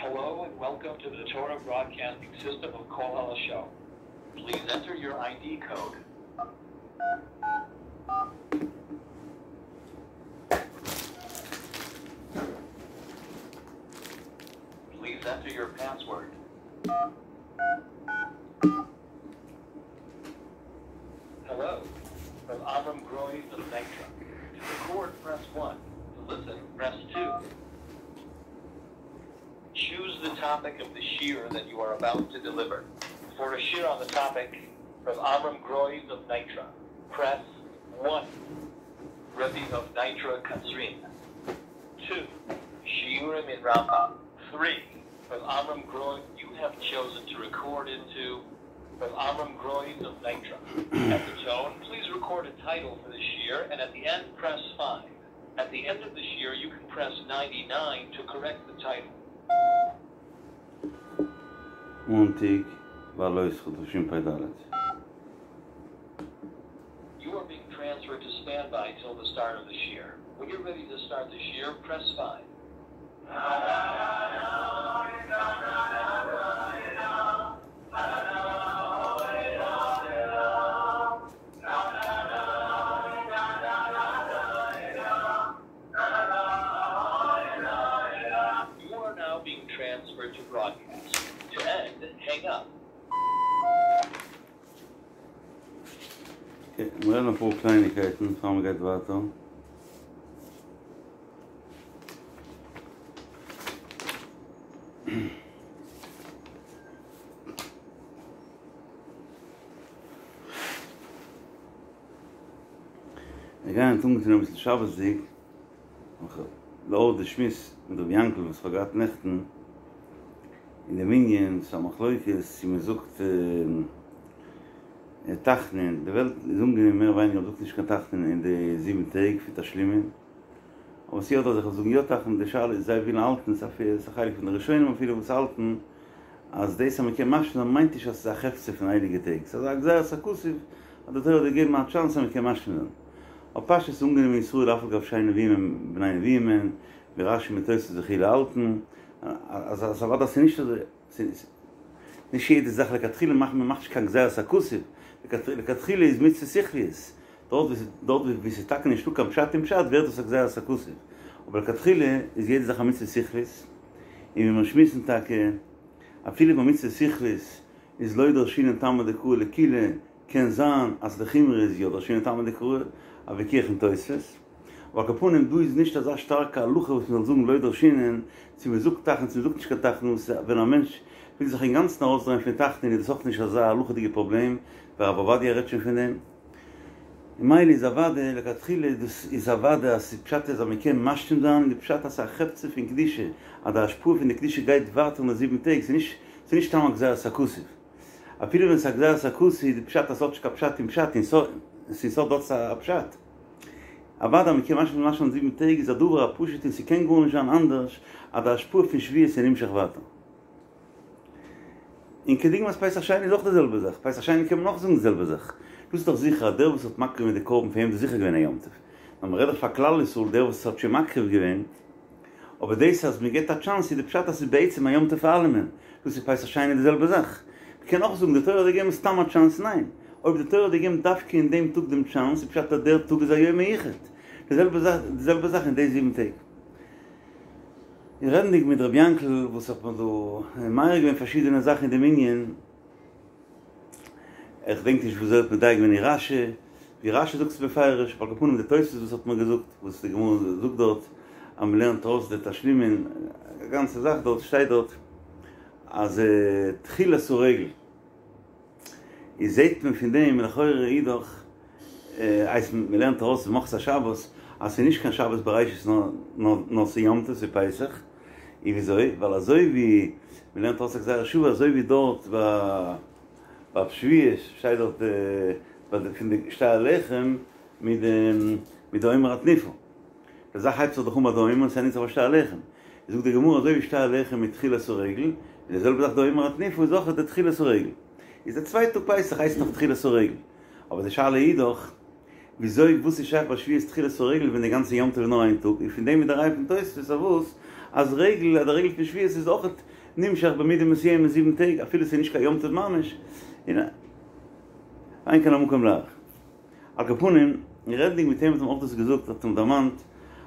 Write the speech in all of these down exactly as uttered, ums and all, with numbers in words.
Hello and welcome to the Torah Broadcasting System of Kol Show. Please enter your ID code. Please enter your password. Hello, from Avram Groys of Nitra. To record, press one. To listen, press two. Choose the topic of the shiur that you are about to deliver. For a shiur on the topic, from Avram Groys of Nitra, press one. Rebbe of Nitra Katzrin. Two. Shiurim in Rambam. Three. From Avram Groys, you have chosen to record into from Avram Groys of Nitra. At the tone, please record a title for the shiur, and at the end, press five. At the end of the shiur, you can press ninety-nine to correct the title. מאנטאג, בהעלותך תשפ"ד. You are being transferred to standby till the start of the shiur. When you're ready to start the shiur, press five. You are now being transferred to broadcast. To end, hang up. Okay, מיר רעדן אפאר קלייניקייטן, פאר מען גייט ווייטער. מיר גייען טון מיט אביסל שבת'דיג. לאור די שמועס מיט רבי יענקל, וואס כ'האב געהאט נעכטן, אין דעם ענין, ס'איז א מחלוקת, צו מען זאגט, אה, תחנון, די וועלט איז אנגענומען מער ווייניגער, מ'זאגט נישט קיין תחנון אין די זיבן טעג פון תשלומין. אבער ס'איז יא דא אזעלכע וואס זאגן יא תחנון, די שאלה איז זיי ווילן האלטן, ס'איז א חלק פון די ראשונים אפילו וואס האלטן אז דאס אז מ'קען משלים זיין מיינט נישט אז ס'איז א חפצא פון הייליגע טעג, ס'איז א גזירת הכתוב אז די תורה האט געגעבן א טשאנס אז מ'קען משלים זיין. אבער פשטות איז אנגענומען אין ישראל אף על גב שאין נביאים הם בני נביאים הן, ווי רש"י מיט תוספות וכו' האלטן אז אז אוודאי ס'איז נישט אזוי, ס'איז נישט יעדע זאך לכתחילה מאכט מען מאכט נישט קיין גזירת הכתוב, לכתחילה איז מצוה שכליות, דארט וואו דארט וואו ס'איז טאקע נישטא קיין פשט אין פשט ווערט עס א גזירת הכתוב, אבער לכתחילה איז יעדע זאך א מצוה שכלית, און ווי מיר שמועסן טאקע אפילו ביי מצוה שכלית איז לא דרשינן טעמא דקרא לקולא, קען זיין אז לחומרא איז יא דרשינן טעמא דקרא, א ויכוח אין תוספות, אבער על כל פנים דא איז נישט אזא שטארקע הלכה וואס מ'זאל זאגן לא דרשינן, צו מ'זאגט תחנון צו מ'זאגט נישט קיין תחנון, ווען א מענטש וויל זיך אינגאנצן ארויסדרייען פון תחנון איז דאס אויך נישט אזא הלכה'דיגע פראבלעם, ווי הרב עובדיה רעדט שוין פון דעם. און מילא איז אוודאי לכתחילה דאס איז אוודאי אז ס'פשט איז אז מ'קען משלים זיין און די פשט אז ס'איז א חפצא פון קדושה אז די השפעה פון די קדושה גייט ווייטער אין די זיבן טעג, ס'איז נישט ס'איז נישט סתם א גזירת הכתוב. אפילו ווען ס'איז א גזירת הכתוב איז די פשט אז ס'האט נישט קיין פשט אין פשט און ס'האט דארט א פשט. אוודאי מ'קען משלים זיין זיבן טעג איז א דבר הפשוט און ס'קען גארנישט זיין אנדערש אז די השפעה פון שבועות איז נמשך ווייטער. און כדוגמת פסח שני איז אויך די זעלבע זאך, פסח שני קען מען אויך זאגן די זעלבע זאך. דאס איז דאך זיכער אז דער וואס האט מקריב געווען די קרבן פאר אים איז זיכער געווען א יום טוב. נאר מ'רעדט דאך פאר כלל ישראל דער וואס האט שוין מקריב געווען. אבער דאס אז מ'געבט א טשאנס איז די פשט אז ס'איז בעצם א יום טוב פאר אלעמען. דאס איז פסח שני די זעלבע זאך. מ'קען אויך זאגן די תורה האט געגעבן סתם א טשאנס, ניין. אויב די תורה האט געגעבן דווקא אין דעם טאג דעם טשאנס איז פשט אז דער טאג איז א יום מיוחד. די זעלבע זאך די זעלבע זאך אין די זיבן טעג. און רעדנדיג מיט ר' יענקל וואס האט מיר דא מעיר געווען פארשידענע זאכן אין דעם ענין, איך דענק נישט וויאזוי ער האט מדייק געווען אין רש"י, ווי רש"י זאגט עס בפירוש, על כל פנים די תוספות וואס האט מיר געזאגט, וואס די גמרא זאגט דארט אז מען לערנט ארויס די תשלומין, א גאנצע זאך דארט שטייט דארט אז תחילת הרגל. איז זעהט מען פון דעם לכאורה איז דאך הייסט מען לערנט ארויס ממחרת השבת אז ס'איז נישט קיין שבת בראשית נאר נאר ס'איז יום טוב ס'איז פסח, און וויאזוי? ווייל אזוי ווי מען לערנט ארויס א גזירה שוה אזוי ווי דארט ביי שבועות שטייט דארט ביי די פון די שתי הלחם מיט די מיט די עומר התנופה די זאך הייבט זיך דאך אן ביי די עומר און ס'ענדיגט זיך ביי שתי הלחם זאגט די גמרא אזוי ווי שתי הלחם איז תחילת הרגל און די זעלבע זאך די עומר התנופה איז אויך די תחילת הרגל. איז די צווייטע טאג פסח הייסט נאך תחילת הרגל. אבער די שאלה איז דאך, וויאזוי וואס איז שייך ביי שבועות תחילת הרגל ווען די גאנצע יום טוב איז נאר איין טאג, און פון דעם איז די ראיה פון תוספות אויף וואס אז רגל אז די רגל פון שבועות איז אויך נמשך במידה מסוימת זיבן טעג, אפילו ס'איז נישט קיין יום טוב ממש, און אין כאן המקום להאריך. על כל פנים, רעדנדיג מיט אים האט אים אויך דאס געזאגט, האט אים דערמאנט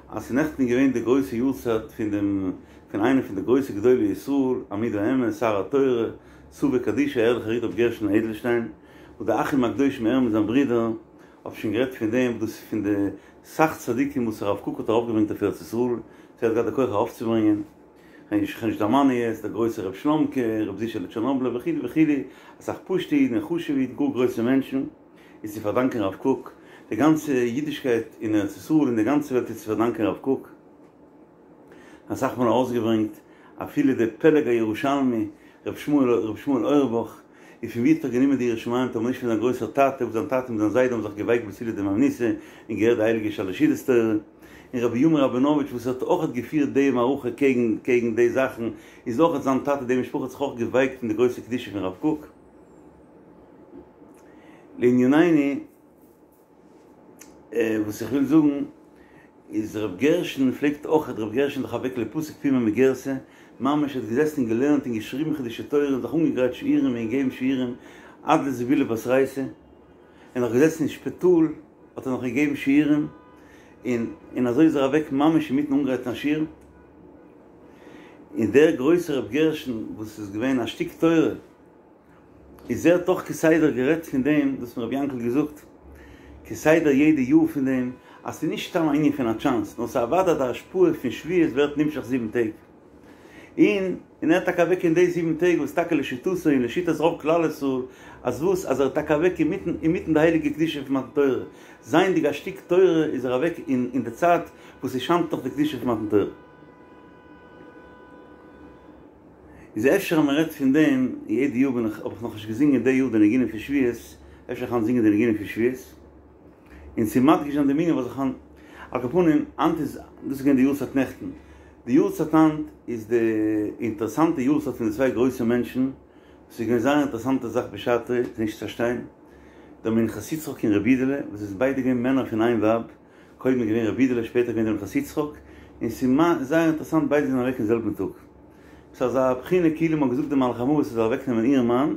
אז ס'איז נעכטן געווען די גרויסע יארצייט פון דעם פון איינער פון די גרויסע גדולי ישראל, עמוד האמת, שר התורה, סבא קדישא, ערליכער איד רבי גרשון אדלשטיין, וואס די אחים הקדושים ער מיט זיין ברודער, האב שוין גערעדט פון דעם, דאס איז פון די סאך צדיקים וואס הרב קוק האט ארויפגעברענגט אויף ארץ ישראל, צו ער האט געהאט די כח ארויפצוברענגען, כ'גיי נישט דערמאנען יעצט, דער גרויסער ר' שלומ'קע, ר' זישעלע טשערנאבלער וכו' וכו', אסאך פשוטע אידן און חשוב'ע אידן, גאר גרויסע מענטשן, איז צו פארדאנקען הרב קוק, די גאנצע אידישקייט אין ארץ ישראל און די גאנצע וועלט איז צו פארדאנקען הרב קוק. אסאך מאל ארויסגעברענגט אפילו דער פלג הירושלמי ר' שמואל ר' שמואל אויערבאך איז פון ווי האט ער גענומען די יראת שמים טאמער נישט פון זיין גרויסער טאטע וואס זיין טאטע מיט זיין זיידע האבן זיך געווייקט בצילא דמהימנותא און געהערט די הייליגע שלש סעודות תורה און רבי בנימין ראבינאוויטש וואס האט אויכעט געפירט די מערכה קעגן קעגן די זאכן איז אויכעט זיין טאטע די משפחה האט זיך אויך געווייקט אין די גרויסע קדושה פון רב קוק לענינינו. וואס איך וויל זאגן איז ר' גרשון פלעגט אויך, ר' גרשון איז דאך אוועק לא פסיק פומיה מגירסא, ממש האט געזעסן און געלערנט און געשריבן חידושי תורה און זיך אנגעגרייט שיעורים און געגעבן שיעורים עד לזיבולא בתרייתא, און נאך געזעסן אין שפיטאל האט ער נאך געגעבן שיעורים, און און אזוי איז ער אוועק ממש אינמיטן אנגרייטן א שיעור, און דער גרויסער ר' גרשון וואס איז געווען א שטיק תורה, איז ער האט דאך כסדר גערעדט פון דעם, דאס האט מיר רבי יענקל געזאגט כסדר יעדע יאר פון דעם, אז ס'איז נישט סתם א ענין פון א טשאנס, נאר ס'איז אוודאי די השפעה פון שבועות ווערט נמשך זיבן טעג. און און ער איז טאקע אוועק אין די זיבן טעג וואס טאקע לשיטתו און לשיטת רוב כלל ישראל, אז וואס אז ער איז טאקע אוועק אינמיטן אינמיטן די הייליגע קדושה פון מתן תורה, זייענדיג א שטיק תורה איז ער אוועק אין אין די צייט וואס ס'שיינט נאך די קדושה פון מתן תורה. איז אפשר אז מען רעדט פון דעם, יעדע יאר בין איך, האב איך נאכנישט געזינגען די יאר די ניגונים פון שבועות, אפשר איך היינט זינגען די ניגונים פון שבועות, און צו מדגיש זיין דעם ענין וואס איך היינט, על כל פנים, היינט איז, דאס איז געווען די יארצייט נעכטן, די יארצייט היינט איז די אינטערעסאנטע יארצייט פון די צוויי גרויסע מענטשן, וואס איז געווען זייער אינטערעסאנטע זאך בשעתו, ס'איז נישט צו פארשטיין, דער מנחת יצחק און רבי אידעלע, וואס זענען ביידע געווען מענער פון איין ווייב, קודם איז געווען רבי אידעלע שפעטער געווען דער מנחת יצחק, און ס'איז זייער אינטערעסאנט ביידע זענען אוועק אין זעלבן טאג. ס'איז אזא בחינה כאילו מ'האט געזאגט די מלאך המוות ער זאל אוועק נעמען איר מאן,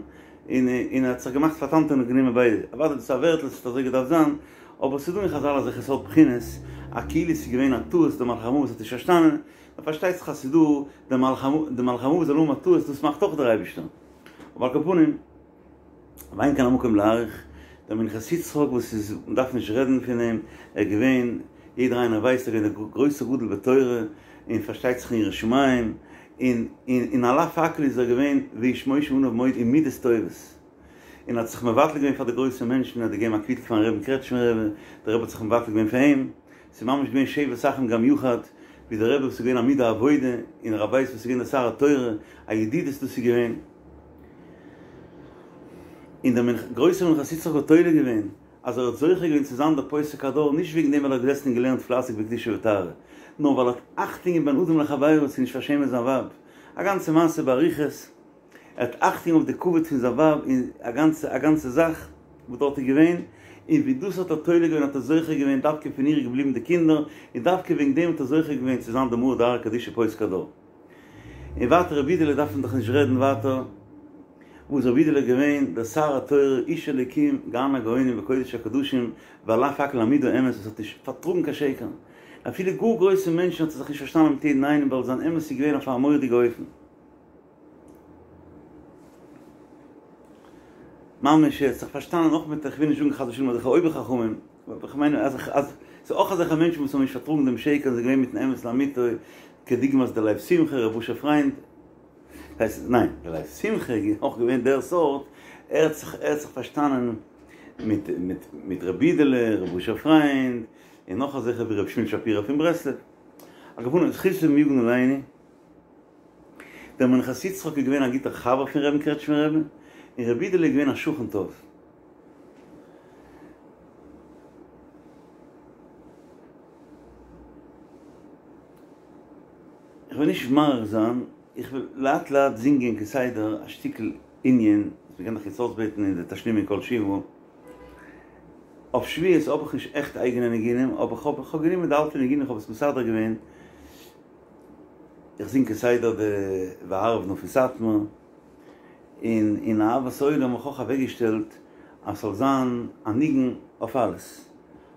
און און ער האט זיך געמאכט פאר טאנטע און האט גענומען ביידע. אוודאי דאס איז א ווערטל ס'האט אזוי געדארפט זיין, אבער ס'איז דא אין חזל אזעלכע סארט בחינות, א כאילו ס'איז געווען א טעות דער מלאך המוות האט נישט פארשטאנען, נאר פארשטייט זיך אז ס'איז דא דער מלאך המוות זאל האבן א טעות דאס מאכט אויך דער אייבערשטער. אבער על כל פנים. ואין כאן המקום להאריך, דער מנחת יצחק וואס איז, מען דארף נישט רעדן פון אים, ער איז געווען, יעדער איינער ווייסט, ער איז געווען דער גרויסער גדול בתורה, און פארשטייט זיך אין יראת שמים, און און און על אף הכל איז ער געווען ואיש משה עניו מאוד אין מידות טובות, און האט זיך מבטל געווען פאר די גרויסע מענטשן, ער האט געגעבן א קוויטל פארן רבין קרעטשמער רבי, דער רבי האט זיך מבטל געווען פאר אים, ס'איז ממש געווען שבת אחים גם יחד, ווי דער רבי וואס איז געווען עמוד העבודה, און הרב ווייס וואס איז געווען דער שר התורה, א ידידות דאס איז געווען. און דער גרויסער מנחת יצחק האט תולה געווען אז ער האט זוכה געווען צו זיין דער פוסק הדור נישט וועגן דעם ווייל ער האט געזעסן און געלערנט פלייסיג בקדושה וטהרה, נאר ווייל ער האט אכטונג געגעבן בין אדם לחבירו צו נישט פארשעמען זיין ווייב, א גאנצע מעשה באריכות, ער האט אכטונג אויף די כבוד פון זיין ווייב און א גאנצע א גאנצע זאך וואס דארט איז געווען, און ווי דאס האט ער תולה געווען האט ער זוכה געווען דווקא פון איר איז געבליבן די קינדער, און דווקא וועגן דעם האט ער זוכה געווען צו זיין דער מרא דארעא קדישא פוסק הדור. און ווייטער רבי אידעלע דארף מען דאך נישט רעדן ווייטער, וואס רבי אידעלע איז געווען דער שר התורה איש אלוקים גאון הגאונים וקודש הקדשים ועל אף הכל עמוד האמת וואס האט נישט פארטראגן קיין שקר, אפילו גאר גרויסע מענטשן האט ער זיך נישט פארשטאנען מיט יעדן איינעם ווייל זיין אמת איז געווען אויף א מורא'דיגע אופן. ממש ער האט זיך פארשטאנען אויך מיט איך וויל נישט זאגן חס ושלום אזעלכע אויבער חכמים, אבער איך מיין אז אז ס'איז אויך אזעלכע מענטשן וואס האבן נישט פארטראגן דעם שקר און זענען געווען מיטן אמת לאמיתו, כדוגמת דער לב שמחה, ר' אשר פריינד, הייסט ניין, דער לב שמחה איז אויך געווען דער סארט, ער האט זיך ער האט זיך פארשטאנען מיט מיט מיט ר' אידעלע, ר' אשר פריינד, און נאך אזעלכע ווי ר' שמואל שפירא פון ברסלב. על כל פנים, זכותם יגן עלינו. דער מנחת יצחק איז געווען א גוטער חבר פון רבין קרעטשמער רבי, און רבי אידעלע איז געווען א שכן טוב. איך וועל נישט מאריך זיין, איך וועל לאט לאט זינגען כסדר א שטיקל ענין, וואס מ'קען דאך יעצט אויסבעטן אין די תשלומי כל שבעה. אויף שבועות האב איך נישט עכט אייגענע ניגונים, אבער כ'האב כ'האב גענומען די אלטע ניגונים, כ'האב עס מסדר געווען. איך זינג כסדר די והערב נא פון סאטמאר, און אין אהבת עולם האב איך אויך אוועקגעשטעלט אז ס'זאל זיין א ניגון אויף אלעס.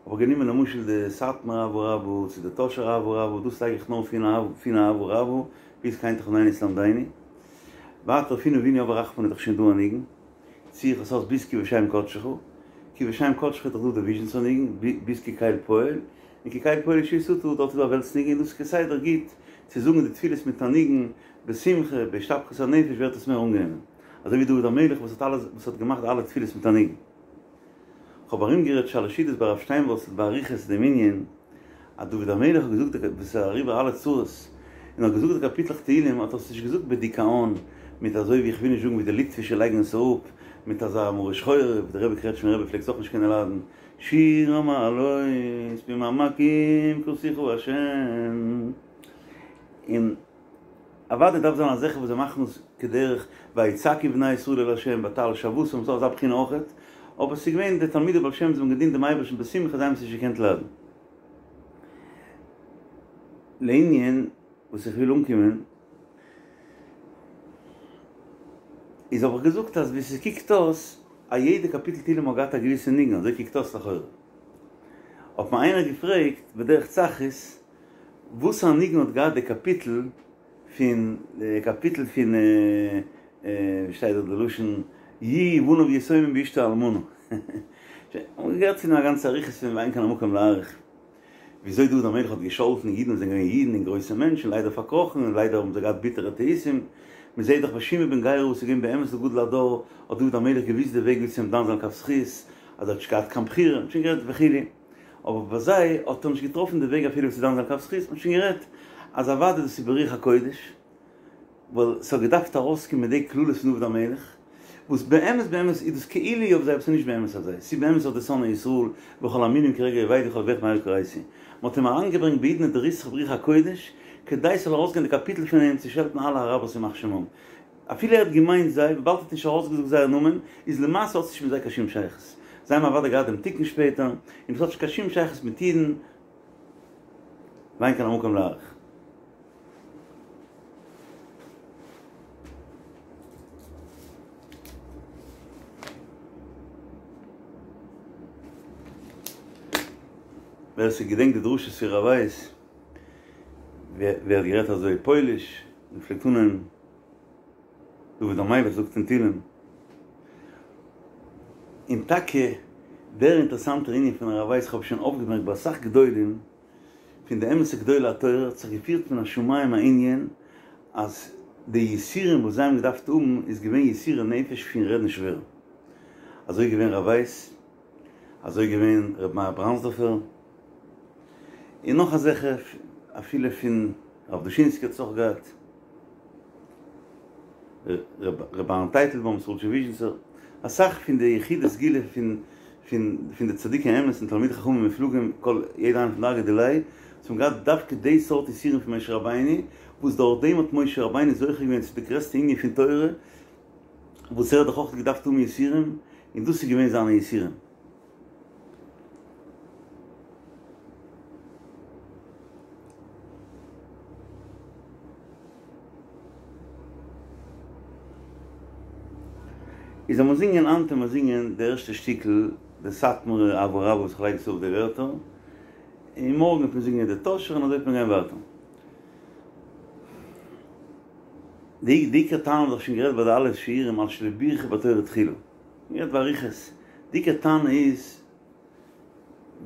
האב איך גענומען למשל די סאטמאר אהבה רבה צו די טאהשער אהבה רבה, דאס לייג איך נאר פון אהבה רבה ביז כן תחננו תלמדנו. ווייטער פון אבינו אב הרחמן איז דאך שוין דא א ניגון, צי איך עס אויס ביז כי בשם קדשך, כי בשם קדשך איז דאך דא די וויזשניצער ניגון, ביז כי קל פועל, און כי קל פועל ישועתך דארט איז דא א וועלטס ניגון, דאס איז כסדר גוט צו זאגן די תפילות מיט א ניגון בשמחה, בהשתפכות הנפש ווערט עס מער אנגענומען, אזוי ווי דוד המלך וואס האט אלעס וואס האט געמאכט אלע תפילות מיט א ניגון. כ'האב ארומגערעדט שלש סעודות ביי הרב שטיינווארצל באריכות דעם ענין אז דוד המלך האט געזאגט די וואס איז אריבער אלע צרות און האט געזאגט די קאפיטלעך תהילים האט ער עס נישט געזאגט בדיכאון מיט אזוי ווי איך וויל נישט זאגן ווי די ליטווישע לייגן עס אראפ מיט אזא מרה שחורה ווי די רבי קרעטשמער רבי פלעגט עס אויך נישט קענען ליידן שיר המעלות ממעמקים קראתיך השם און אוודאי דארף זיין אזעלכע וואס זיי מאכן עס כדרך ויצעקו בני ישראל אל ה' ותעל שועתם ס'איז אזא בחינה אויכעט, אבער ס'איז געווען די תלמידי בעל שם זיי האבן געדינט דעם אייבערשטן בשמחה זיי האבן עס נישט געקענט ליידן. לענין וואס איך וויל אנקומען איז האב איך געזאגט אז ווי ס'קוקט אויס א יעדע קאפיטל תהילים האט געהאט א געוויסע ניגון אזוי קוקט אויס לכאורה האט מיר איינער געפרעגט בדרך צחות וואס א ניגון האט געהאט די קאפיטל פון די קאפיטל פון ווי שטייט דארט די לשון יהיו בניו יתומים ואשתו אלמנה שוין גערעדט פון א גאנצע אריכות פון ואין כאן המקום להאריך וויאזוי דוד המלך האט געשאלטן אידן וואס זענען געווען אידן און גרויסע מענטשן ליידער פארקראכן און ליידער האבן זיי געהאט ביטערע טעותים מען זעט דאך ביי שמעי בן גרא וואס איז געווען באמת א גדול הדור האט דוד המלך געוויסט די וועג ווי צו אים דן זיין לכף זכות אז ער האט נישט געהאט קיין בחירה שוין גערעדט וכו' אבער ביי זיי האט ער נישט געטראפן די וועג אפילו צו דן זיין לכף זכות, מ'האט שוין גערעדט אז אוודאי דאס איז ברוח הקודש, ווייל ס'האט געדארפט ארויסקומען די קללות פון דוד המלך, וואס באמת באמת איז דאס כאילו אויף זיי אבער ס'איז נישט באמת אויף זיי, ס'איז באמת אויף די שונאי ישראל וכל המינים כי רגע אבדו וכל אויביך מהרה כריתי. מ'האט אים אריינגעברענגט בעידנא דריתחא ברוח הקודש, כדי ס'זאל ארויסגיין די קאפיטל פון אים צו שעלטן אלע אראבערס ימח שמם. אפילו ער האט געמיינט זיי, וויבאלד ער האט נישט ארויסגעזאגט זייער נאמען, איז למעשה האט עס נישט מיט זיי קיין שום שייכות. זיי האבן אוודאי געהאט דעם תיקון שפעטער, און עס האט נישט קיין שום שייכות מיט אידן, ואין כאן המקום להאריך. ווער ס'געדענקט די דרשות פון רב ווייס, ווי ער האט גערעדט אזוי פויליש, און פלעגט אנהייבן. דוד המלך זאגט אין תהילים. און טאקע דער אינטערעסאנטער ענין פון הרב ווייס, כ'האב שוין אויפגעמערקט ביי אסאך גדולים, פון די אמת'ע גדולי התורה, האט זיך געפירט מן השמים א ענין אז די יסורים וואס זיי האבן געדארפט האבן איז געווען יסורי נפש פון רעדן שווער. אזוי איז געווען רב ווייס, אזוי איז געווען ר' מאיר בראנדסדארפער, און נאך אזעלכע, אפילו פון הרב דושינסקי האט עס אויך געהאט. ר' אהרן טייטלבוים, סרולטשע וויזשניצער, אסאך פון די יחידי סגולה פון פון פון די צדיקי אמת און תלמידי חכמים מופלגים כל יעדער איינער פון דרגא דיליה, וואס האבן געהאט דווקא די סארט יסורים פון משה רבינו, וואס דורך דעם האט משה רבינו זוכה געווען צו די גרעסטע ענין פון תורה, וואס ער האט דאך אויך געדארפט האבן יסורים, און דאס איז געווען זיינע יסורים. איז לאמיר זינגען היינט לאמיר זינגען די ערשטע שטיקל די סאטמארע אהבה רבה וואס איך לייג עס אויף די ווערטער, און מארגן וועט מען זינגען די טאהשער און אזוי וועט מען גיין ווייטער. די עיקר טענה האב איך שוין גערעדט ביי די אלע שיעורים על שלא בירכו בתורה תחילה. גערעדט באריכות. די עיקר טענה איז,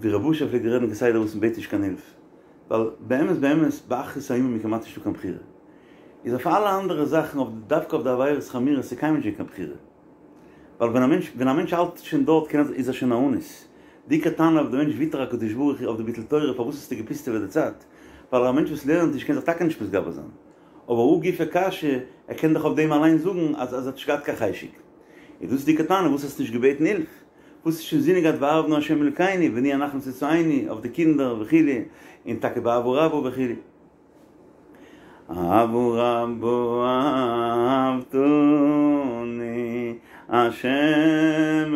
ווי רב אשר פלעגט רעדן כסדר וואס מ'בעט נישט קיין הילף. ווייל באמת באמת באחרית הימים איז כמעט נישטא קיין בחירה. איז אויף אלע אנדערע זאכן אויף דווקא אויף די עבירות חמורות איז קיינמאל נישט געווען קיין בחירה. ווייל ווען א מענטש ווען א מענטש האלט שוין דארט קען ער איז ער שוין א אנוס. די עיקר טענה אויף די מענטש ויתר הקדוש ברוך הוא אויף די ביטול תורה פארוואס האסטו געפוסטעוועט די צייט? ווייל א מענטש וואס לערנט נישט קען זיך טאקע נישט מתגבר זיין. אבער הא גופא קשיא, ער קען דאך אויף דעם אליין זאגן אז אז ער האט נישט געהאט קיין חשק. איז דאס די עיקר טענה וואס האסטו נישט געבעטן הילף? וואס האסט נישט אינזינען געהאט והערב נא ה' אלוקינו ונהיה אנחנו צאצאינו אויף די קינדער וכו' און טאקע באהבה רבה וכו'. אהבה רבה אהבתנו השם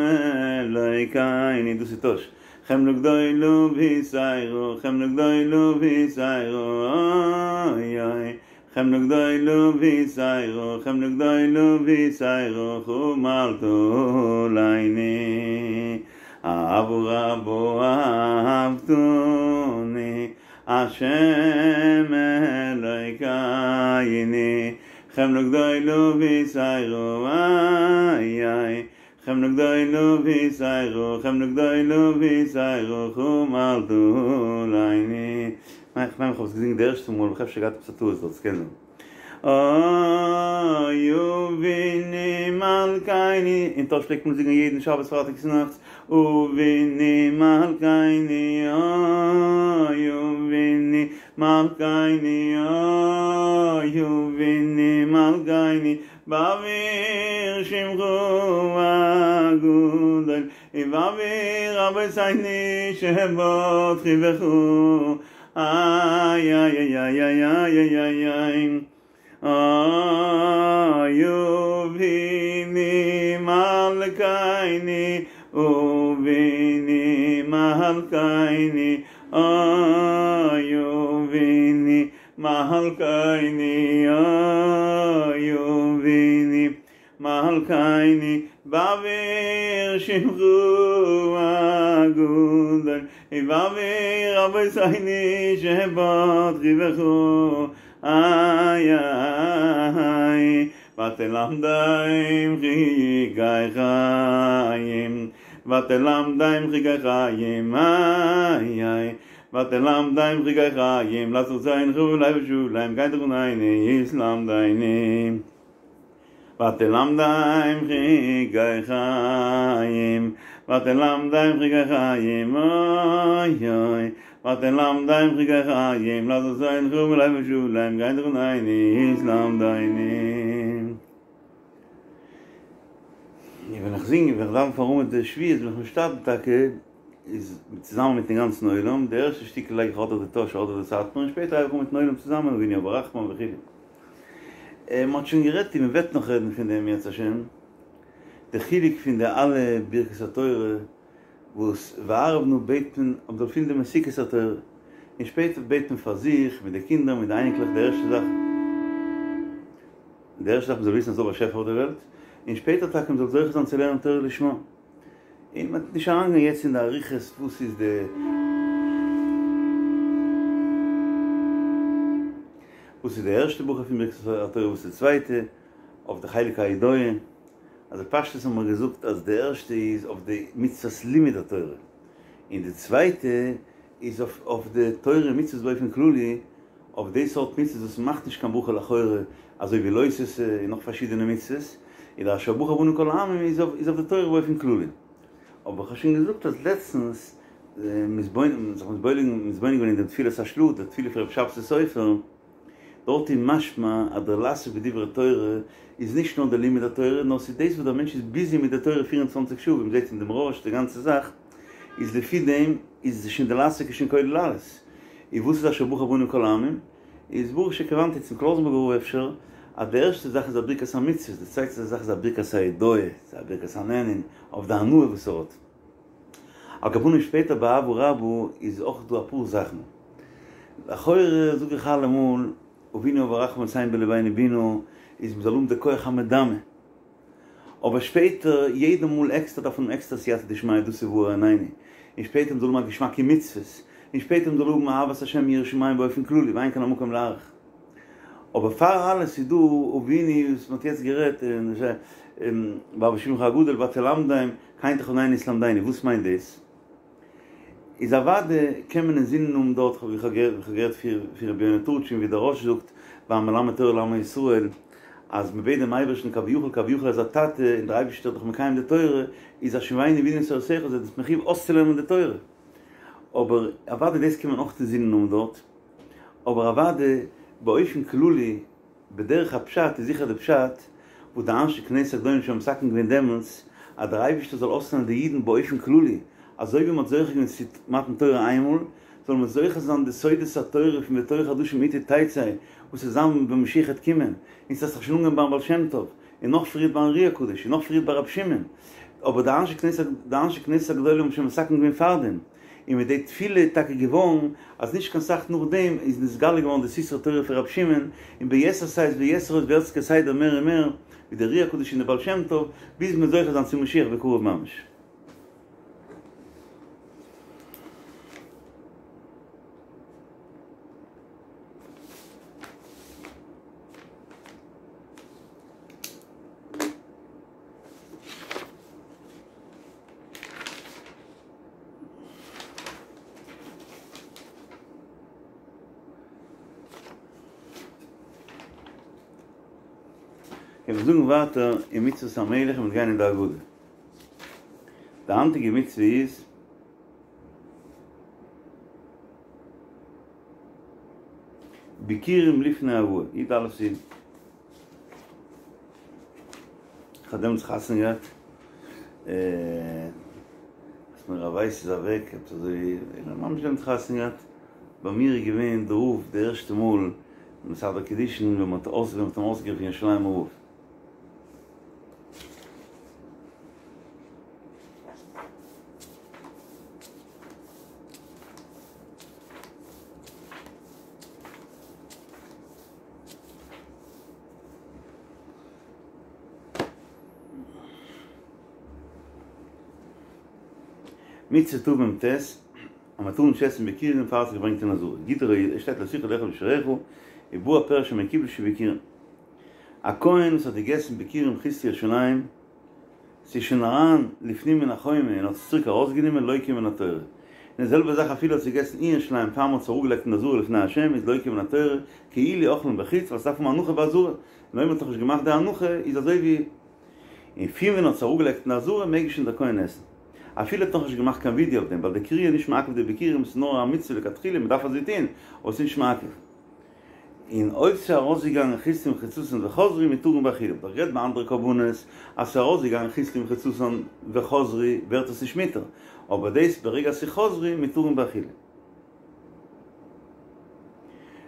אלוקינו דאס איז טאהש חמלה גדולה ויתירה חמלה גדולה ויתירה אוי אוי חמלה גדולה ויתירה, חמלה גדולה ויתירה, חמלת עלינו. אהבה רבה אהבתני, השם אלוקינו. חמלה גדולה ויתירה, איי איי. חמלה גדולה ויתירה, חמלה גדולה ויתירה, חמלת עלינו. איך מיין איך האב עס געזינגען די ערשטע מאל, איך האב אפשר געהאט עפעס א טעות דארט, ס'קען זיין. אוי אבינו מלכינו, אין טאהש פלעגט מען זינגען יעדן שבת פרייטאג צונאכטס, אבינו מלכינו, אוי אבינו מלכינו, אוי אבינו מלכינו, בעבור שמך הגדול, ובעבור אבותינו שבטחו בך. איי איי איי איי איי איי איי איי אוי אבינו מלכינו אבינו מלכינו אוי אבינו מלכינו אוי אבינו מלכינו בעבור שמך הגדול ובעבור אבותינו שבטחו בך איי איי ותלמדם חוקי חיים ותלמדם חוקי חיים איי איי ותלמדם חוקי חיים לעשות רצונך בלב שלם כן תחננו ותלמדנו ותלמדם חוקי חיים ותלמדם חוקי חיים אוי אוי ותלמדם חוקי חיים לעשות רצונך בלב שלם כן תחננו ותלמדנו. ווען איך זינג, ווען איך דאווען פארן עמוד די שבועות, ווען איך משתדל טאקע, איז צוזאמען מיטן גאנצן עולם, די ערשטע שטיקל לייג איך אדער די טאהשער אדער די סאטמאר, און שפעטער הייב איך אן מיטן עולם צוזאמען, אבינו אב הרחמן וכו'. מען האט שוין גערעדט און מען וועט נאך רעדן פון דעם אם ירצה השם, די חילוק פון די אלע ברכות התורה וואס וערב נא בעט מען אז מ'זאל פילן די מתיקות התורה, און שפעטער בעט מען פאר זיך, מיט די קינדער, מיט די אייניקלעך, די ערשטע זאך, די ערשטע זאך מ'זאל וויסן אז ס'דא א באשעפער אויף די וועלט, און שפעטער טאקע מ'זאל זוכה זיין צו לערנען תורה לשמה. און מ'וועט נישט אריינגיין יעצט אין די אריכות וואס איז די וואס איז די ערשטע ברכה פון ברכת התורה וואס איז די צווייטע, אויף די חלק ההודאה, אז בפשטות האבן מיר געזאגט אז די ערשטע איז אויף די מצוות לימוד התורה, און די צווייטע איז אויף אויף די תורה און מצוות באופן כללי, אויף די סארט מצוות וואס מ'מאכט נישט קיין ברכה לאחורי, אזוי ווי לא תעשה און נאך פארשידענע מצוות, און די אשר בחר בנו מכל העמים איז אויף איז אויף די תורה באופן כללי. אבער כ'האב שוין געזאגט אז לעצטנס מתבונן זיך מתבונן מתבונן געווען אין דעם תפילת השל"ה, די תפילה פון רבי שבתי סופר, דארט איז משמע אז דער לעסוק בדברי תורה איז נישט נאר דער לימוד התורה, נאר ס'איז דאס וואס דער מענטש איז ביזי מיט די תורה פֿיר און צוואַנציק שעה, ווי מ'זעט אין דעם רא"ש די גאנצע זאך, איז לפי דעם איז שוין די לעסוק איז שוין כולל אלעס. און וואס איז אשר בחר בנו מכל העמים? איז ברוך שכיוונתי צום קלויזנבורגער רב אפשר, אז די ערשטע זאך איז א ברכת המצוות, די צווייטע זאך איז א ברכת ההודאה, ס'איז א ברכת הנהנין, אויף די הנאה וואס ער האט. על כל פנים שפעטער ביי אהבה רבה איז אויך דא אפאר זאכן. לכאורה זאג איך אלעמאל, אבינו אב הרחמן ותן בלבנו בינה, איז מ'זאל האבן די כח המדמה. אבער שפעטער יעדע מאל עקסטער דארף מען האבן עקסטער סייעתא דשמיא דאס איז והאר עינינו, און שפעטער מ'זאל האבן א געשמאק אין מצוות, און שפעטער מ'זאל האבן אהבת השם יראת שמים באופן כללי ואין כאן המקום להאריך. אבער פאר אלעס איז דא אבינו וואס מ'האט יעצט גערעדט און בעבור שמך הגדול ותלמדם כן תחננו ותלמדנו, וואס מיינט דאס? איז אוואדע קען מען אינזינען האבן דארט ווי כ'האב געהערט פון רבי יונה טורטשין ווי דער רא"ש זאגט ביים מלמד תורה לעמו ישראל אז מ'בעט דעם אייבערשטן כביכול כביכול אז א טאטע און דער אייבערשטער איז דאך מקיים די תורה איז השיבנו בינה לתורתך איז ער מחויב אויסצולערנען די תורה אבער אוואדע דאס קען מען אויך אינזינען האבן דארט אבער אוואדע באופן כללי בדרך הפשט איז זיכער די פשט וואס די אנשי כנסת הגדולה האבן שוין מתקן געווען דעמאלטס אז דער אייבערשטער זאל אויסלערנען די אידן באופן כללי, אזוי ווי מען האט זוכה געווען צו מתן תורה איינמאל, זאל מען זוכה זיין די סודות התורה פון בתורה חדשה מאתי תצא, וואס וועט זיין ווען משיח העט קומען, און ס'האט זיך שוין אנגעהויבן ביים בעל שם טוב, און נאך פריער ביים אר"י הקדוש, און נאך פריער ביי רבי שמעון, אבער די אנשי כנסת די אנשי כנסת הגדולה האבן שוין מתקן געווען פארדעם, און מיט די תפילה איז טאקע געווארן אז נישט קיין סאך נאכדעם איז נתגלה געווארן די סתרי תורה פון רבי שמעון, און ביתר שאת ויתר עוז ווערט עס כסדר מער און מער, ווי דער אר"י הקדוש און דער בעל שם טוב, ביז מ'וועט זוכה זיין צו משיח בקרוב ממש. און מיר זאגן ווייטער אין מצוות המלך און מיר גייען אין די הגדה. די היינטיגע מצוה איז ביכורים לפני הבאה, י"א סיון. איך האב דעמאלטס חתונה געהאט, אז מיר רב ווייס איז אוועק, עפעס אזוי, איך האב ממש דעמאלטס חתונה געהאט, ביי מיר איז געווען דער רב די ערשטע מאל מסדר קידושין ווען מ'האט אים אויסגערופן ירושלימ'ער רב. מצוה תמ"ט, אז מען טאר נישט עסן ביכורים פאר ס'איז געברענגט אין עזרה, גדרו, עס שטייט לא תוכל לאכול בשעריך, ובא הפירש המקובל שהוא ביכורים. א כהן וואס האט געגעסן ביכורים חוץ לירושלים, ס'איז שוין אריין לפנים מן החומה און האט עס צוריק ארויסגענומען לוקה מן התורה. און די זעלבע זאך אפילו האט עס געגעסן אין ירושלים פאר מ'האט עס אראפגעלייגט אין עזרה לפני השם איז לוקה מן התורה כאילו אכלן בחוץ ווייל ס'דארף האבן הנחה בעזרה און אויב מ'האט נאכנישט געמאכט די הנחה איז אזוי ווי און פון ווען האט עס אראפגעלייגט אין עזרה מעג שוין דער כהן עסן אפילו האט נאכנישט געמאכט קיין וידוי אויף דעם ווייל די קריאה איז נישט מעכב די ביכורים ס'איז נאר א מצוה לכתחילה מ'דארף אזוי טון אבער ס'איז נישט מעכב. און אויב ס'איז ארויסגעגאנגען חיתולים וחציצתן וחזרו מותרין באכילה, מ'האט דאך גערעדט ביי אנדערע קרבנות אז ס'איז ארויסגעגאנגען חיתולים וחציצתן וחזרו ווערט עס נישט מותר, אבער דאס ברגע ס'איז חזרו מותרין באכילה.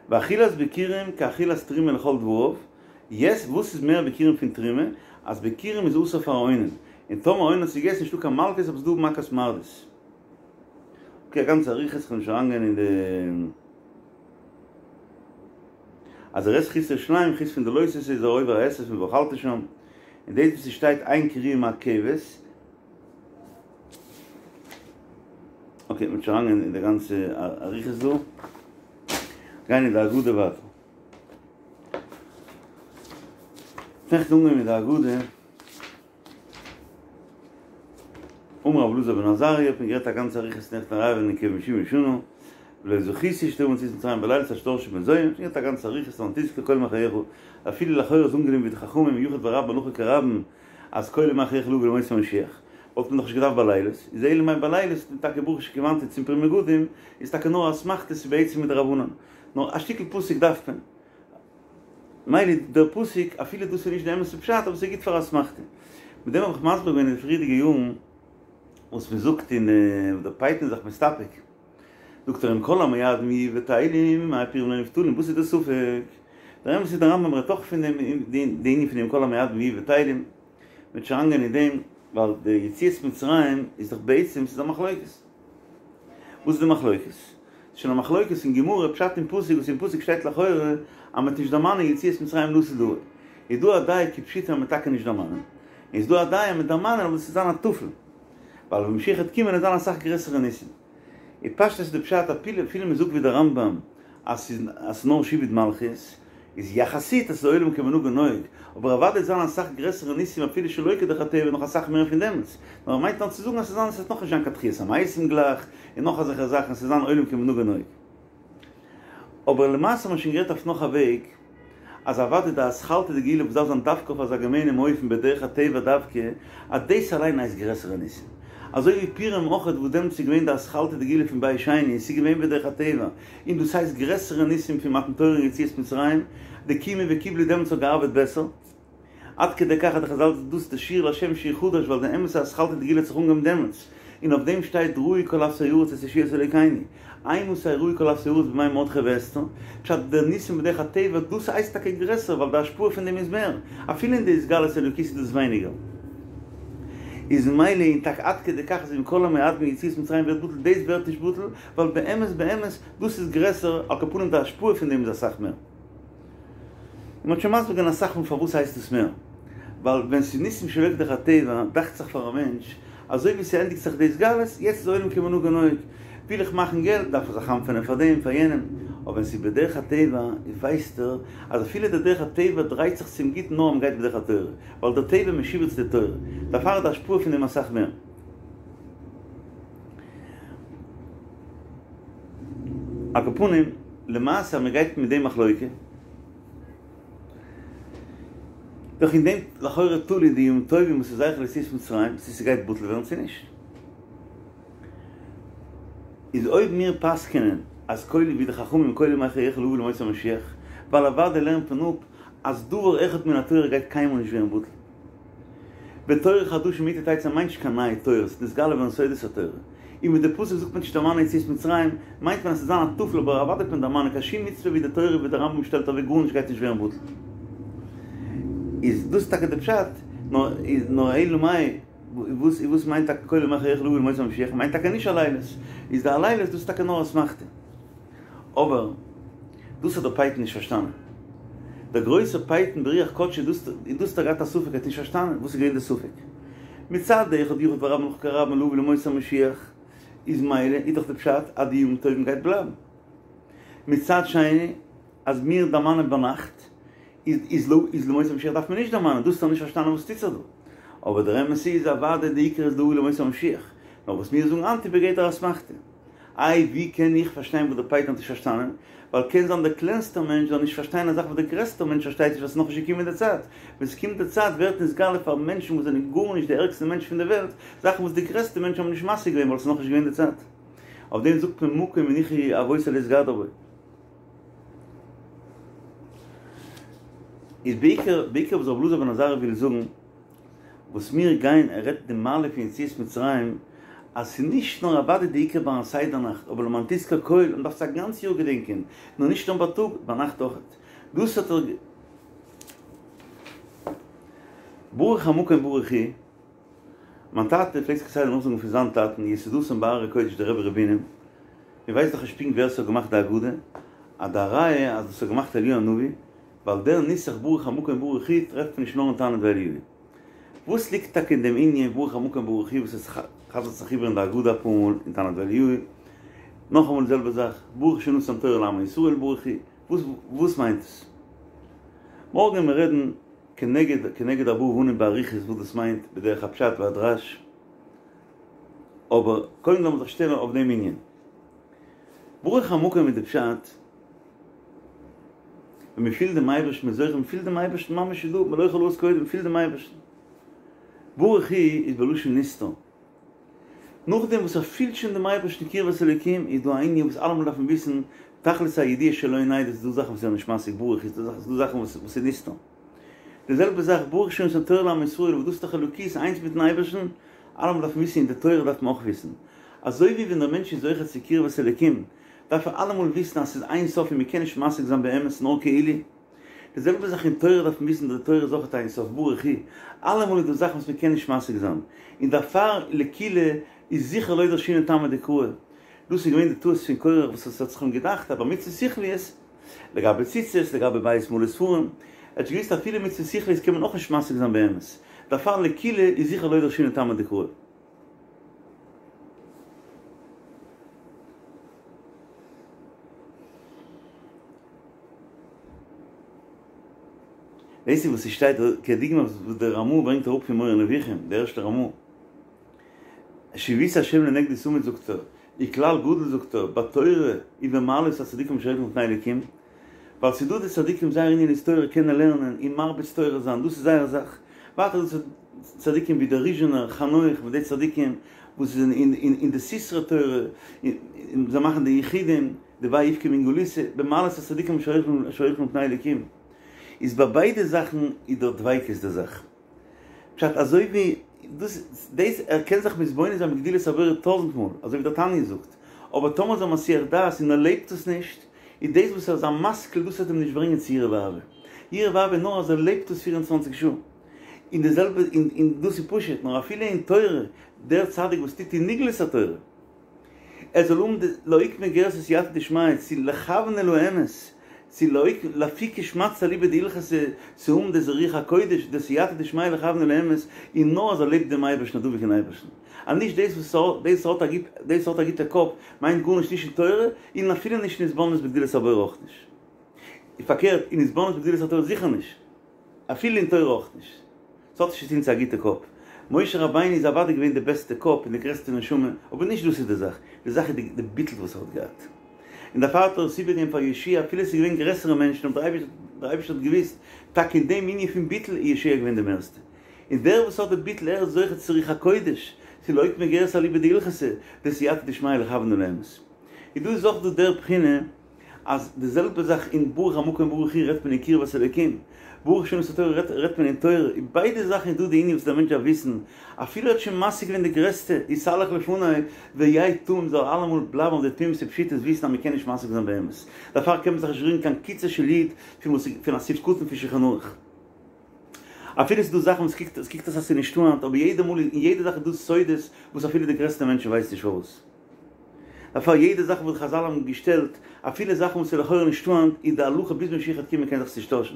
ואכילת ביכורים כאכילת תרומה לכל דבריו, יעצט וואס איז מער ביכורים פון תרומה? אז ביכורים איז אסור פאר א אונן, און טאמער אונן האט עס געגעסן נישטא קיין מלקות אבער ס'איז דא מכת מרדות. אקעי א גאנצע אריכות כ'וועל נישט אריינגיין אין די. אז ער עסט חוץ לירושלים חוץ פון די לא תעשה איז ער עובר א עשה פון ואכלת שם, און דאס וואס ס'שטייט אין כריעה מעכבת, אקעי מ'וועט נישט אריינגיין אין די גאנצע אריכות דא, גיין אין די הגדה ווייטער. נעכטן אנגעהויבן מיט די הגדה. אמר רבי אלעזר בן עזריה, האט מען גערעדט א גאנצע אריכות נעכטן ערבים נקראים שבעים שנה, ולא זכיתי שתבא מציאת מצרים בלילה עד שדרשו בן זומא, שוין גערעדט א גאנצע אריכות למען תזכור כל ימי חייך, אפילו לכאורה איז אנגענומען ווי די חכמים יחיד ורבים הלכה כרבים אז כל ימי חייך לבוא לימות המשיח, וואלט מען דאך נישט געדארפט בלילות, איז אלא מאי בלילות איז טאקע ברוך שכיוונתי צום פרי מגדים, איז טאקע נאר אסמכתא ס'איז בעצם מדרבנן, נאר א שטיקל פסוק דארף מען. מילא דער פסוק, אפילו דאס איז נישט די אמת'ע פשט, אבער ס'איז גוט פאר אסמכתא. מיט דעם האב איך מסביר געווען אין די פריערדיגע יארן, וואס מ'זאגט אין דער פייטן איז זיך מסתפק, זאגט ער אם כל המועדים יהיו בטלים מה פורים לא נבטלים, וואס איז די ספק? דער אמת איז דער רמב"ם רעדט אויך פון דעם די ענין פון אם כל המועדים יהיו בטלים, מ'וועט נישט אריינגיין אין דעם, ווייל די יציאת מצרים איז דאך בעצם ס'איז א מחלוקת. וואס איז די מחלוקת? ס'איז שוין א מחלוקת אין גמרא, פשט אין פסוק, וואס אין פסוק שטייט לכאורה אז מ'וועט נישט דערמאנען יציאת מצרים לעתיד לבוא. איז דא א דעה כפשוטו אז מ'וועט טאקע נישט דערמאנען, און איז דא א דעה אז מ'וועט דערמאנען אבער עס וועט זיין א טפל, ווייל ווען משיח וועט קומען וועט זיין אסאך גרעסערע ניסים. און פשטות איז די פשט אפילו אפילו מ'זאגט ווי די רמב"ם אז ס'איז אז ס'איז נאר שעבוד מלכיות, איז יחסית אז ס'איז עולם כמנהגו נוהג, אבער אוודאי וועט זיין אסאך גרעסערע ניסים אפילו שלא כדרך הטבע נאך אסאך מער פון דעמאלטס, נאר ער מיינט נאר צו זאגן אז ס'זיין ס'וועט נאכנישט זיין קיין תחיית המתים גלייך, און נאך אזעלכע זאכן, ס'וועט זיין עולם כמנהגו נוהג. אבער למעשה האט מען שוין גערעדט אויף נאך א וועג, אז אוודאי די אתחלתא דגאולה וואס דארף זיין דווקא אויף אזא געמיינעם אופן בדרך הטבע דווקא, אז דאס אליין הייסט גרעסערע ניסים. אזוי ווי פורים אויכעט וואס דעמאלטס איז געווען די אתחלתא דגאולה פון בית שני און ס'איז געווען בדרך הטבע, און דאס הייסט גרעסערע ניסים פון מתן תורה און יציאת מצרים, די קימו וקיבלו דעמאלטס האט געארבעט בעסער. עד כדי כך אז די חזל זאגט דאס די שיר להשם שיר חדש ווייל די אמת'ע אתחלתא דגאולה האט זיך אנגעהויבן דעמאלטס, און אויף דעם שטייט ראו כל אפסי ארץ את ישועת אלוקינו, אימתי ראו כל אפסי ארץ בימי מרדכי ואסתר, פשט די ניסים בדרך הטבע דאס הייסט טאקע גרעסער ווייל די השפעה פון דעם איז מער, אפילו אין די התגלות אלוקית איז דאס ווייניגער. איז ממילא און טאקע עד כדי כך אז אם כל המועדים יציאת מצרים ווערט בטל דאס ווערט נישט בטל ווייל באמת באמת דאס איז גרעסער על כל פנים די השפעה פון דעם איז אסאך מער. און מ'האט שוין מסביר געווען אסאך מאל פארוואס הייסט דאס מער ווייל ווען ס'איז ניסים שלא כדרך הטבע דאכט זיך פאר א מענטש אזוי ווי ס'ענדיגט זיך די התגלות יעצט איז עולם כמנהגו נוהג וויל איך מאכן געלט דארף איך זיך חנפענען פאר דעם פאר יענעם אבער ווען ס'איז בדרך הטבע ווייסט ער אז אפילו די דרך הטבע דרייט זיך צום גוטן נאר מ'גייט בדרך התורה ווייל דער טבע משועבד צו די תורה, דערפאר איז די השפעה פון דעם אסאך מער. על כל פנים, למעשה אז מען גייט מיט די מחלוקה, דאך אין דעם לכאורה תלוי די ימים טובים וואס איז זכר ליציאת מצרים, צו ס'גייט בטל ווערן צו נישט. איז אויב מיר פסק'ענען אז כל ווי די חכמים כל ימי חייך להביא לימות המשיח, ווייל אוודאי לערנט מען אפ אז דבר אחד מן התורה גייט קיינמאל נישט ווערן בטל. ותורה חדשה מאתי תצא מיינט נישט קיין נייע תורה, ס'איז נתגלה געווארן סודות התורה. און ווען די פסוק זאגט מען נישט דערמאנען יציאת מצרים, מיינט מען אז ס'זאל זיין א טפל אבער אוודאי וועט מען דערמאנען קיין שום מצוה ווי די תורה ווי די רמב"ם שטעלט אוועק גארנישט גייט נישט ווערן בטל. איז דאס טאקע די פשט? נאר אלא מאי וואס וואס מיינט טאקע כל ימי חייך להביא לימות המשיח מיינט טאקע נישט הלילות, איז די הלילות דאס איז טאקע נאר אסמכתא. אבער דאס האט דער פייטן נישט פארשטאנען. דער גרויסער פייטן ברוח קדשו דאס און דאס האט ער געהאט א ספק ער האט נישט פארשטאנען וואס איז געווען די ספק. מצד אחד יחיד ורבים הלכה כרבים להביא לימות המשיח איז מילא איז דאך די פשט אז די ימים טובים גייט בלייבן. מצד שני אז מיר דערמאנען ביינאכט איז איז לא איז לימות המשיח דארף מען נישט דערמאנען דאס האט ער נישט פארשטאנען וואס טוט זיך דא. אבער דער אמת איז אוודאי די עיקר איז להביא לימות המשיח. נאר וואס מיר זאגן היינט איז בגדר אסמכתא. איי ווי קען איך פארשטיין וואס דער פייטן האט נישט פארשטאנען? ווייל קען זיין דער קלענסטער מענטש זאל נישט פארשטיין א זאך וואס דער גרעסטער מענטש פארשטייט נישט ווייל ס'איז נאכנישט געקומען די צייט. ווען ס'קומט די צייט ווערט נתגלה פאר מענטשן וואס זענען גארנישט די ערגסטע מענטשן פון די וועלט, זאכן וואס די גרעסטע מענטשן האבן נישט משיג געווען ווייל ס'איז נאכנישט געווען די צייט. אויף דעם זאגט מען מקום הניחו אבותי להתגדר בו. איז בעיקר בעיקר וואס רבי אלעזר בן עזריה וויל זאגן. וואס מיר גייען ער רעדט די מעלה פון יציאת מצרים אז ס'איז נישט נאר אוודאי די עיקר ביים סדר נאכט אבער למען תזכור כל מען דארף עס א גאנץ יאר געדענקען נאר נישט נאר בייטאג ביינאכט אויכעט דאס האט ער ברוך המקום ברוך הוא מיין טאטע פלעגט זיך כסדר נאכזאגן פון זיין טאטן יסודתן בהררי קודש דער רבי ר' בונם מען ווייסט דאך נישט פונקט ווער ס'האט געמאכט די הגדה אז די ראיה אז דאס האט געמאכט אליהו הנביא ווייל דער נוסח ברוך המקום ברוך הוא טרעפט מען נישט נאר אין תנא דבי אליהו. וואס ליגט טאקע אין דעם ענין ברוך המקום ברוך הוא וואס עס חזר'ט זיך איבער אין די הגדה אפאר מאל אין תנא דבי אליהו? נאכאמאל די זעלבע זאך, ברוך שנתן תורה לעמו ישראל ברוך הוא, וואס וואס מיינט עס? מארגן וועלן מיר רעדן כנגד כנגד ארבעה אבנים באריכות וואס דאס מיינט בדרך הפשט והדרש, אבער קודם לאמיר זיך שטעלן אויף דעם ענין. ברוך המקום איז די פשט. ווען מען פילט דעם אייבערשטן, מען איז זוכה, מען פילט דעם אייבערשטן ממש איז דא, מלא כל הארץ כבודו, מען פילט דעם אייבערשטן. ברוך הוא איז בלשון נסתר. נאכדעם וואס ער פילט שוין דעם אייבערשטן קרבת אלוקים, איז דא א ענין וואס אלעמאל דארף מען וויסן, תכלית הידיעה שלא נדע, ס'איז דא זאכן וואס איז נישט משיג ברוך הוא, ס'איז דא זאכן וואס איז נסתר. די זעלבע זאך ברוך שנתן תורה לעמו ישראל, וואס דאס איז דאך אלוקות איינס מיטן אייבערשטן, אלעמאל דארף מען וויסן, אין די תורה דארף מען אויך וויסן. אזוי ווי ווען דער מענטש איז זוכה צו קרבת אלוקים, דארף ער אלעמאל וויסן אז ס'איז אין סוף און מ'קען נישט משיג זיין באמת נאר כאילו. די זעלבע זאך אין תורה דארף מען וויסן די תורה איז אויך אין סוף ברוך הוא, אלעמאל איז דא זאכן וואס מ'קען נישט משיג זיין, און דערפאר לקולא איז זיכער לא דרשינן טעמא דקרא. דאס איז געווען די טעות פון קורח וואס עס האט זיך אים געדאכט אז ביי מצוות שכליות, לגבי ציצית, לגבי בית מלא ספרים, ער האט נישט געוואוסט אפילו מצוות שכליות קען מען אויך נישט משיג זיין באמת, דערפאר לקולא איז זיכער לא דרשינן טעמא דקרא. דאס איז וואס ס'שטייט כדוגמא וואס דער רמ"א ברענגט אראפ פון מורה נבוכים, דער ערשטער רמ"א. שויתי השם לנגדי תמיד זאגט ער, וכלל גדול זאגט ער, בתורה ובמעלות הצדיקים אשר הולכים לפני אלוקים, ווייל ס'איז דא די צדיקים זייער ענין איז תורה קענען לערנען און מרביץ תורה זיין דאס איז זייער זאך, ווייטער איז דא צדיקים ווי דער ריזשינער, חנוך מיט די צדיקים וואס זענען אין די סתרי תורה און זיי מאכן די יחודים, די ויבכו מן גלותא, במעלות הצדיקים אשר הולכים לפני אלוקים איז ביי ביידע זאכן איז דער דביקות די זאך. פשט אזוי ווי דאס דאס ער קען זיך מתבונן זיין בגדולת הבורא טויזנט מאל אזוי ווי דער תניא זאגט, אבער טאמער איז ער מסיח דעת און ער לעבט עס נישט, איז דאס וואס ער איז א משכיל דאס וועט אים נישט ברענגען צו יראה ואהבה. יראה ואהבה איז נאר אז ער לעבט עס פֿיר און צוואַנציק שעה. און די זעלבע און דאס איז פשוט, נאר אפילו אין תורה, דער צדיק וואס טוט אין נגלות התורה, ער זאל האבן די לאוקמי גירסא סייעתא דשמיא צו לכוון אל האמת, צו לאפוקי שמעתתא אליבא דהלכתא, צו האבן די רוח הקודש, די סייעתא דשמיא לכוון אל האמת, און נאר אז ער לעבט דעם אייבערשטן און דבוק אין אייבערשטן. אז נישט דאס וואס דאס האט א דאס האט א גוטע קאפ מיינט גארנישט נישט אין תורה, און אפילו נישט אין התבוננות בגדולת הבורא אויך נישט. פארקערט, אין התבוננות בגדולת התורה זיכער נישט. אפילו אין תורה אויך נישט. ס'האט נישט צו טון צו א גוטע קאפ. משה רבינו איז אוודאי געווען די בעסטע קאפ און די גרעסטע נשמה, אבער נישט דאס איז די זאך. די זאך איז די ביטול וואס ער האט געהאט. און דערפאר האט ער עס איבערגעגעבן פאר יהושע אפילו עס איז געווען גרעסערע מענטשן, אבער דער אייבערשטער האט געוואוסט, טאקע אין דעם ענין פון ביטול איז יהושע געווען די מערסטע. און דער וואס האט די ביטול ער איז זוכה צו רוח הקודש, צו לאוקמי גירסא אליבא דהלכתא, די סייעתא דשמיא לכוון אל האמת. און דא איז אויך דא דער בחינה אז די זעלבע זאך אין ברוך המקום ברוך הוא רעדט מען אין קרבת אלוקים, ברוך שנתן תורה רעדט רעדט מען אין תורה, אין ביידע זאכן איז דא די ענין וואס דער מענטש דארף וויסן, אפילו ער האט שוין משיג געווען די גרעסטע התהלך לפני והיה תמים זאל אלעמאל בלייבן אויף די תמימות ופשיטות וויסן אז מען קען נישט משיג זיין באמת, דערפאר קען מען זיך נישט רירן קיין קוצו של יוד פון וואס פון א סעיף קטן פון שולחן ערוך. אפילו ס'איז דא זאכן וואס קוקט עס קוקט אויס אז ס'איז נישטא היינט אבער יעדע מאל אין יעדע זאך איז דא סודות וואס אפילו די גרעסטע מענטשן ווייסן נישט פארוואס. דערפאר יעדע זאך וואס חזל האבן געשטעלט, אפילו זאכן וואס איז לכאורה נישטא היינט, איז די הלכה ביז משיח וועט קומען קען זיך עס נישט טוישן.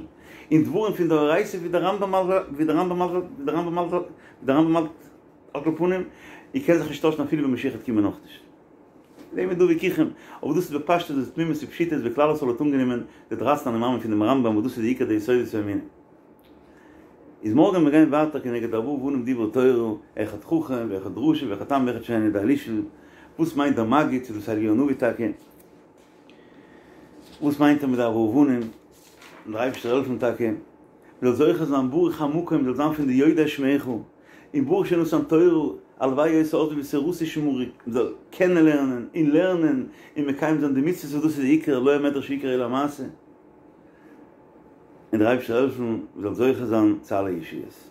און דברים פון דאורייתא ווי דער רמב ם ווי דער רמב ם ווי דער רמב ם ווי דער רמב ם האלט על כל פנים, און קען זיך נישט טוישן אפילו ווען משיח וועט קומען אויך נישט. אין דעם איז דא וויכוחים, אבער דאס איז בפשטות די תמימות ופשיטות ווי כלל ישראל האט אנגענומען די דרייצן אני מאמין פון דעם רמב ם וואס דאס איז די עיקר די יסודות האמונה. איז מארגן מיר גייען ווייטער כנגד ארבעה בנים דברה תורה, אחד חכם ואחד רשע ואחד תם ואחד שאינו יודע לשאול, וואס מיינט דער מגיד צו דאס אליהו הנביא טאקע? וואס מיינט ער מיט די ארבעה בנים? און דער אייבערשטער העלפן טאקע מ'זאל זוכה זיין ברוך המקום מ'זאל זיין פון די יודעי שמך, און ברוך שנתן תורה, הלוואי היתה עוזבי ותורתי שמרו, מ'זאל קענען לערנען און לערנען און מקיים זיין די מצוות וואס דאס איז די עיקר, לא המדרש עיקר אלא המעשה. און דער אייבערשטער העלפן מ'זאל זוכה זיין צו אלע ישועות.